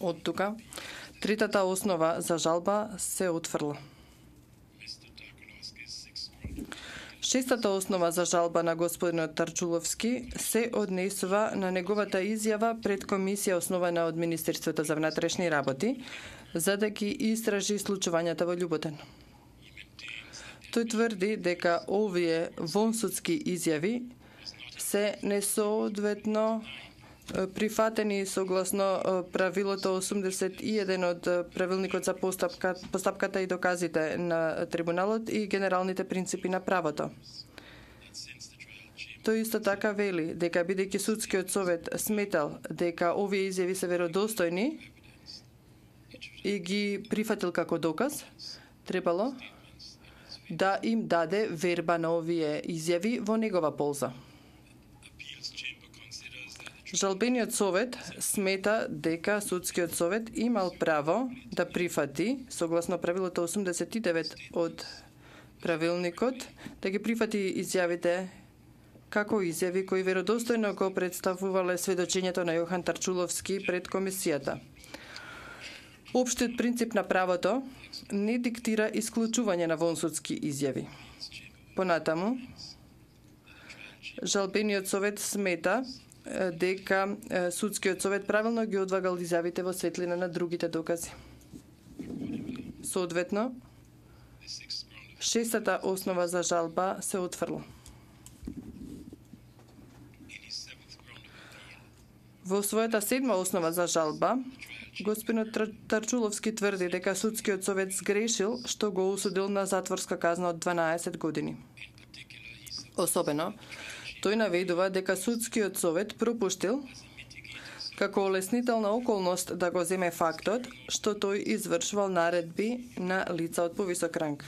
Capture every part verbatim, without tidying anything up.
Од тука, третата основа за жалба се отфрла. Шестата основа за жалба на господинот Тарчуловски се однесува на неговата изјава пред комисија основана од Министерството за внатрешни работи, за да ги истражи случувањата во Љуботен. Тој тврди дека овие вонсудски изјави се несоодветно прифатени согласно правилото осумдесет и еден од правилникот за постапка, постапката и доказите на трибуналот и генералните принципи на правото. Тој исто така вели дека бидејќи судскиот совет сметал дека овие изјави се веродостојни и ги прифатил како доказ, требало да им даде верба на овие изјави во негова полза. Жалбениот совет смета дека судскиот совет имал право да прифати, согласно правилото осумдесет и девет од правилникот, да ги прифати изјавите како изјави кои веродостојно го представувале сведочењето на Јохан Тарчуловски пред комисијата. Општиот принцип на правото не диктира исклучување на вонсудски изјави. Понатаму, жалбениот совет смета дека судскиот совет правилно ги одвагал изјавите во светлина на другите докази. Соодветно, шестата основа за жалба се отфрла. Во својата седма основа за жалба, господинот Тарчуловски тврди дека судскиот совет сгрешил што го осудил на затворска казна од дванаесет години. Особено, тој наведува дека судскиот совет пропуштил како олеснителна околност да го земе фактот што тој извршувал наредби на лица од повисок ранг.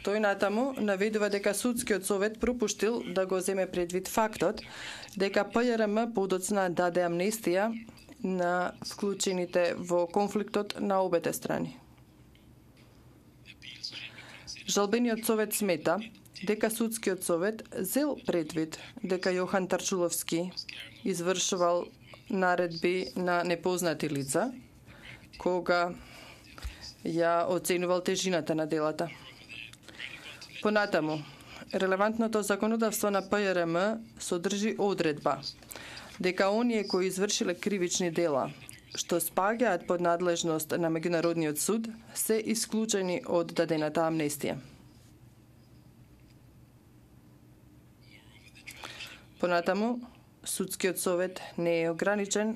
Тој натаму наведува дека судскиот совет пропуштил да го земе предвид фактот дека ПЈРМ подоцна даде амнестија на вклучените во конфликтот на обете страни. Жалбениот совет смета дека судскиот совет зел предвид дека Јохан Тарчуловски извршувал наредби на непознати лица кога ја оценувал тежината на делата. Понатаму, релевантното законодавство на ПЈРМ содржи одредба дека оние кои извршиле кривични дела што спаѓаат под надлежност на меѓународниот суд се исклучени од дадената амнестија. Понатаму, судскиот совет не е ограничен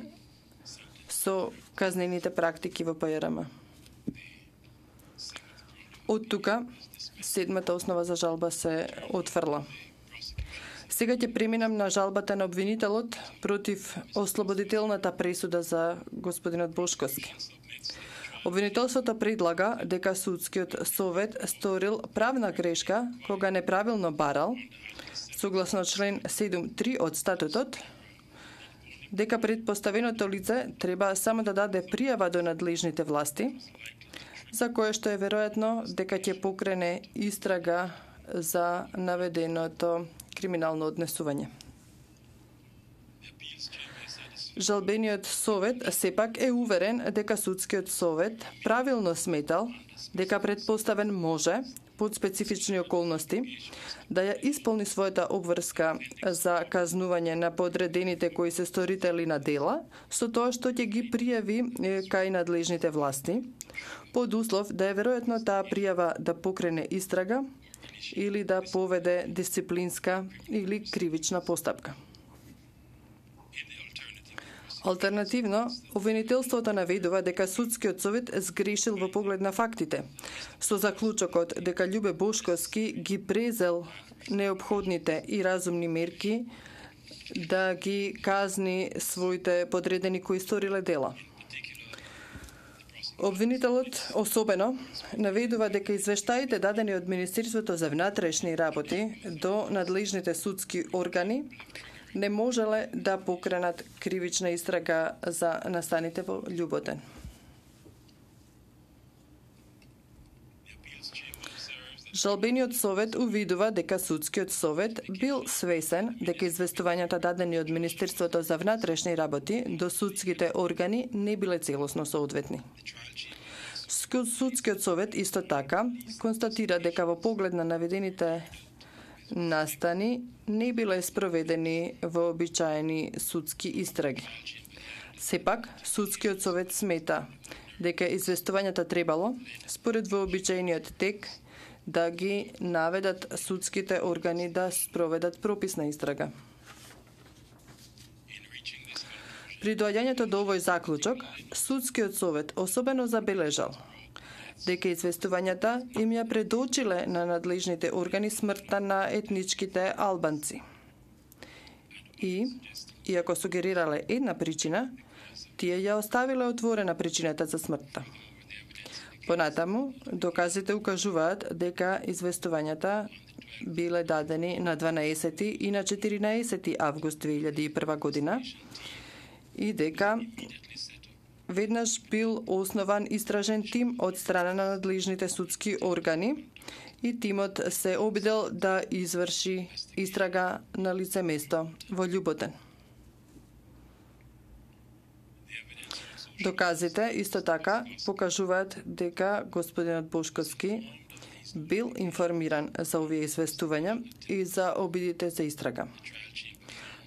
со казнените практики во ПЈРМ. Од тука, седмата основа за жалба се отфрла. Сега ќе преминам на жалбата на обвинителот против ослободителната пресуда за господинот Бошковски. Обвинителството предлага дека судскиот совет сторил правна грешка кога неправилно барал, согласно член седум три од статутот, дека предпоставеното лице треба само да даде пријава до надлежните власти, за кое што е веројатно дека ќе покрене истрага за наведеното криминално однесување. Жалбениот совет сепак е уверен дека судскиот совет правилно сметал дека предпоставен може, под специфични околности, да ја исполни својата обврска за казнување на подредените кои се сторители на дела, со тоа што ќе ги пријави кај надлежните власти, под услов да е веројатно таа пријава да покрене истрага или да поведе дисциплинска или кривична постапка. Алтернативно, обвинителството наведува дека судскиот совет сгрешил во поглед на фактите, со заклучокот дека Љубе Бошковски ги презел неопходните и разумни мерки да ги казни своите подредени кои сториле дела. Обвинителот особено наведува дека извештаите дадени од Министерството за внатрешни работи до надлежните судски органи не можеле да покренат кривична истрага за настаните во Љуботен. Жалбениот совет увидува дека судскиот совет бил свесен дека известувањата дадени од Министерството за внатрешни работи до судските органи не биле целосно соодветни. Судскиот совет исто така констатира дека во поглед на наведените настани не биле спроведени вообичаени судски истраги. Сепак, судскиот совет смета дека известувањата требало, според вообичаениот тек, да ги наведат судските органи да спроведат прописна истрага. При доаѓањето до овој заклучок, судскиот совет особено забележал дека известувањата им ја предочиле на надлежните органи смртта на етничките албанци. И, иако сугерирале една причина, тие ја оставиле отворена причината за смртта. Понатаму, доказите укажуваат дека известувањата биле дадени на дванаесети и на четиринаесети август две илјади и прва година и дека веднаш бил основан истражен тим од страна на надлежните судски органи и тимот се обидел да изврши истрага на лице место во Љуботен. Доказите исто така покажуваат дека господинот Бошковски бил информиран за овие известувања и за обидите за истрага.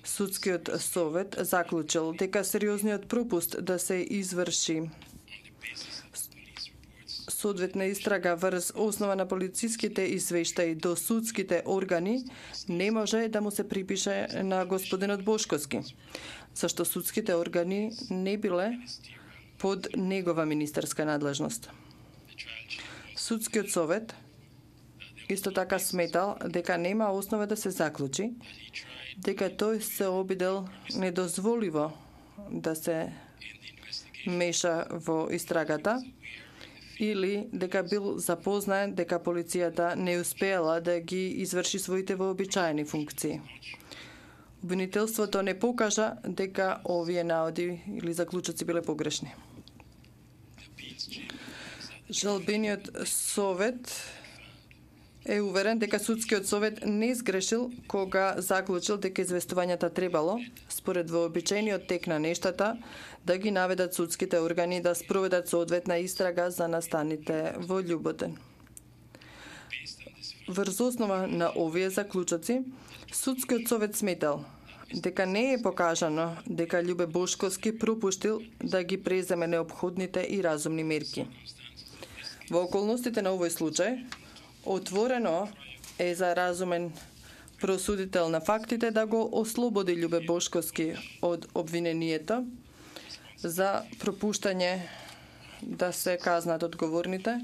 Судскиот совет заклучил дека сериозниот пропуст да се изврши соодветна истрага врз основа на полициските извештаи до судските органи не може да му се припише на господинот Бошковски, зашто судските органи не биле под негова министерска надлежност. Судскиот совет исто така сметал дека нема основа да се заклучи дека тој се обидел недозволиво да се меша во истрагата или дека бил запознаен дека полицијата не успеала да ги изврши своите вообичаени функции. Обвинителството не покажа дека овие наоди или заклучоци биле погрешни. Жалбениот совет е уверен дека судскиот совет не сгрешил кога заклучил дека известувањата требало, според вообичаениот тек на нештата, да ги наведат судските органи да спроведат соодветна истрага за настаните во Љуботен. Врз основа на овие заклучоци, судскиот совет сметал дека не е покажано дека Љубе Бошковски пропуштил да ги преземе неопходните и разумни мерки. Во околностите на овој случај, отворено е за разумен просудител на фактите да го ослободи Љубе Бошковски од обвинението за пропуштање да се казнат одговорните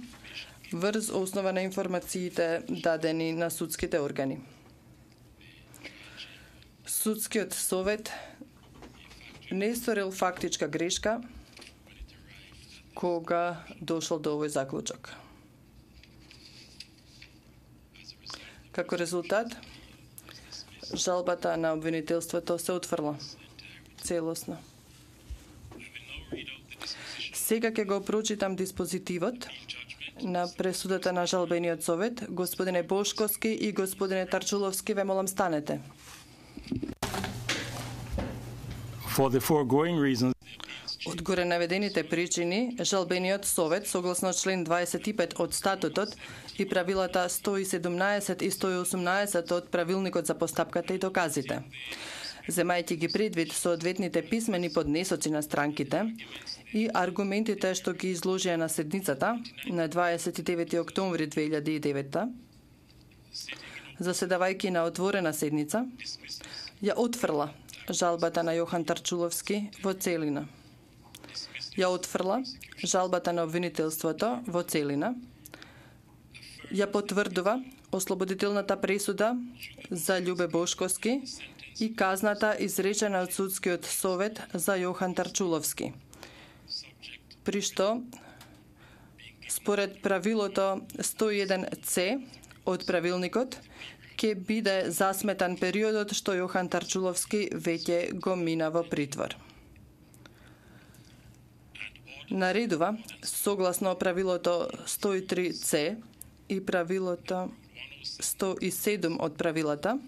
врз основа на информациите дадени на судските органи. Судскиот совет не сторил фактичка грешка кога дошол до овој заклучок. Како резултат, жалбата на обвинителството се отфрла целосно. Сега ќе го прочитам диспозитивот на пресудата на жалбениот совет. Господине Бошковски и господине Тарчуловски, ве молам станете. For the foregoing reasons, Од горе наведените причини, жалбениот совет, согласно член дваесет и пет од статутот и правилата сто и седумнаесет и сто и осумнаесет од правилникот за постапката и доказите, земајќи ги предвид соодветните писмени поднесоци на странките и аргументите што ги изложија на седницата на дваесет и девети октомври две илјади и девета, заседавајќи на отворена седница, ја отфрла жалбата на Јохан Тарчуловски во целина. Ја отфрла жалбата на обвинителството во целина, ја потврдува ослободителната пресуда за Љубе Бошковски и казната изречена од судскиот совет за Јохан Тарчуловски, при што според правилото сто и еден це од правилникот ќе биде засметан периодот што Јохан Тарчуловски веќе го мина во притвор. Наредува, согласно правилото сто и три це и правилото сто и седум од правилата,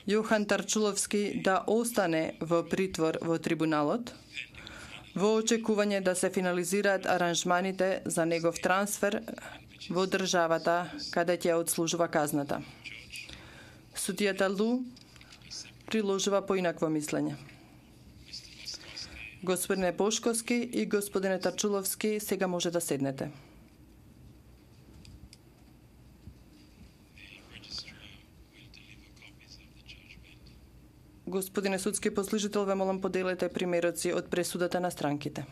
Јохан Тарчуловски да остане во притвор во трибуналот, во очекување да се финализираат аранжманите за негов трансфер во државата каде ќе одслужува казната. Судијата Лу приложува поинакво мислење. Господине Бошковски и господине Тарчуловски, сега може да седнете. Господине судски послужител, ве молам поделете примероци од пресудата на странките.